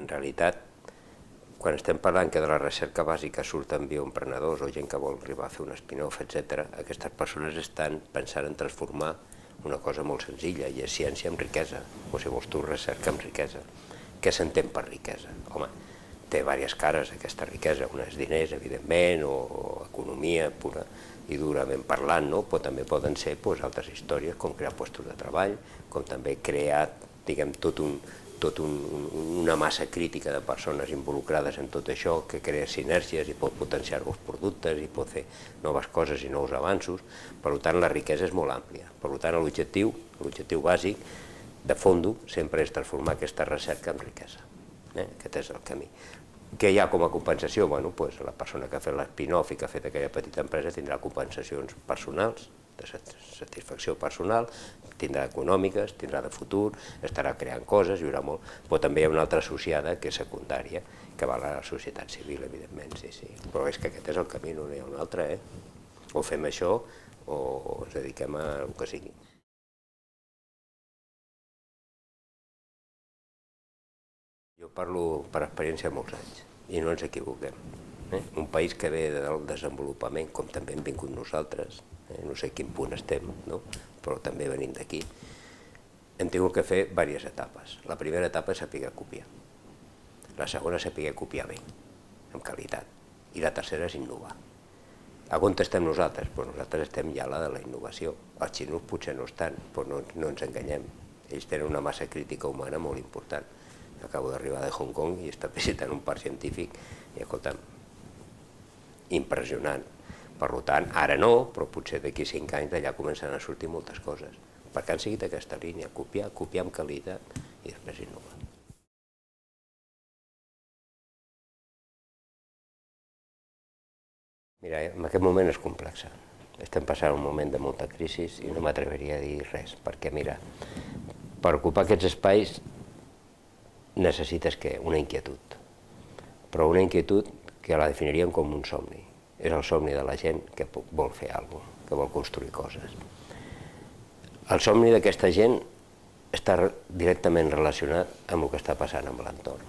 en realitat, quan estem parlant que de la recerca bàsica surten bioemprenedors o gent que vol arribar a fer un spin-off, etc., aquestes persones estan pensant en transformar una cosa molt senzilla, i és ciència amb riquesa, o si vols tu, recerca amb riquesa. Què s'entén per riquesa? Home, té diverses cares aquesta riquesa, una és diners, evidentment, o economia pura i durament parlant, però també poden ser altres històries, com crear llocs de treball, com també crear, diguem, una massa crítica de persones involucrades en tot això, que crea sinergies i pot potenciar nous productes i pot fer noves coses i nous avanços. Per tant, la riquesa és molt àmplia. Per tant, l'objectiu bàsic, de fons, sempre és transformar aquesta recerca en riquesa. Aquest és el camí. Què hi ha com a compensació? Bueno, la persona que ha fet l'spin-off i que ha fet aquella petita empresa tindrà compensacions personals, de satisfacció personal, tindrà econòmiques, tindrà de futur, estarà creant coses, hi haurà molt... Però també hi ha una altra associada, que és secundària, que va a la societat civil, evidentment, sí. Però és que aquest és el camí, no n'hi ha un altre, O fem això o ens dediquem a el que sigui. Jo parlo per experiència de molts anys, i no ens equivoquem. Un país que ve del desenvolupament, com també hem vingut nosaltres, no sé a quin punt estem, però també venim d'aquí, hem tingut que fer diverses etapes. La primera etapa és saber copiar. La segona és saber copiar bé, amb qualitat. I la tercera és innovar. A on estem nosaltres? Nosaltres estem ja a la de la innovació. Els xinos potser no estan, però no ens enganyem. Ells tenen una massa crítica humana molt important. Acabo d'arribar de Hong Kong i està visitant un parc científic i, escolta'm, impressionant. Per tant, ara no, però potser d'aquí 5 anys d'allà començaran a sortir moltes coses. Perquè han seguit aquesta línia, copiar amb qualitat i després innovar. Mira, en aquest moment és complex. Estem passant un moment de molta crisi i no m'atreviria a dir res, perquè mira, per ocupar aquests espais necessites una inquietud, però una inquietud que la definiríem com un somni. És el somni de la gent que vol fer alguna cosa, que vol construir coses. El somni d'aquesta gent està directament relacionat amb el que està passant amb l'entorn.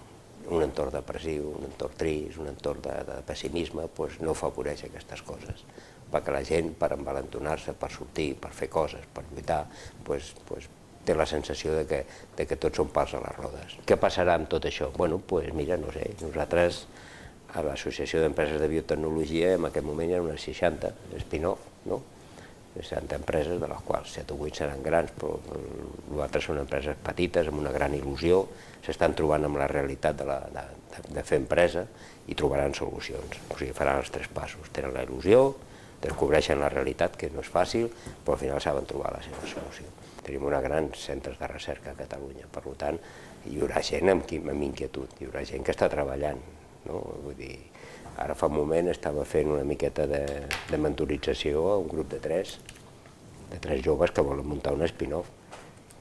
Un entorn depressiu, un entorn trist, un entorn de pessimisme, no afavoreix aquestes coses. Perquè la gent, per envalentonar-se, per sortir, per fer coses, per lluitar, té la sensació que tots són pals a les rodes. Què passarà amb tot això? Bueno, mira, no sé, nosaltres a l'Associació d'Empreses de Biotecnologia en aquest moment hi ha unes 60 spin-off, 60 empreses, de les quals 7 o 8 seran grans, però les altres són empreses petites, amb una gran il·lusió, s'estan trobant amb la realitat de fer empresa i trobaran solucions, o sigui, faran els 3 passos, tenen la il·lusió, descobreixen la realitat, que no és fàcil, però al final saben trobar la seva solució. Tenim uns grans centres de recerca a Catalunya, per tant, hi haurà gent amb inquietud, hi haurà gent que està treballant. Vull dir, ara fa un moment estava fent una miqueta de mentorització a un grup de 3 joves que volen muntar un spin-off.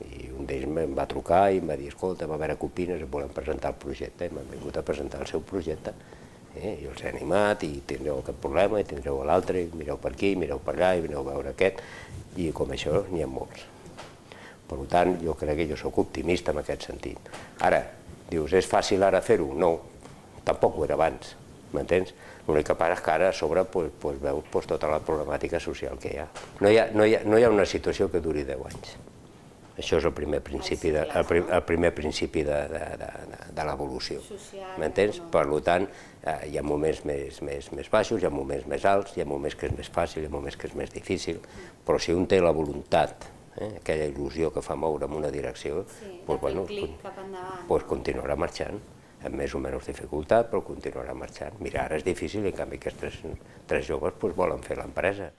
I un d'ells em va trucar i em va dir, escolta, a veure què opines, volem presentar el projecte, i m'han vingut a presentar el seu projecte. Jo els he animat i tindreu aquest problema i tindreu l'altre, i mireu per aquí, mireu per allà, i vineu a veure aquest, i com això n'hi ha molts. Per tant, jo crec que jo soc optimista en aquest sentit. Ara, dius, és fàcil ara fer-ho? No, tampoc ho era abans, m'entens? L'únic que passa és que ara a sobre veus tota la problemàtica social que hi ha. No hi ha una situació que duri 10 anys. Això és el primer principi de l'evolució, m'entens? Per tant, hi ha moments més baixos, hi ha moments més alts, hi ha moments que és més fàcil, hi ha moments que és més difícil, però si un té la voluntat, aquella il·lusió que fa moure en una direcció, doncs continuarà marxant, amb més o menys dificultat, però continuarà marxant. Mira, ara és difícil i en canvi aquests 3 joves volen fer l'empresa.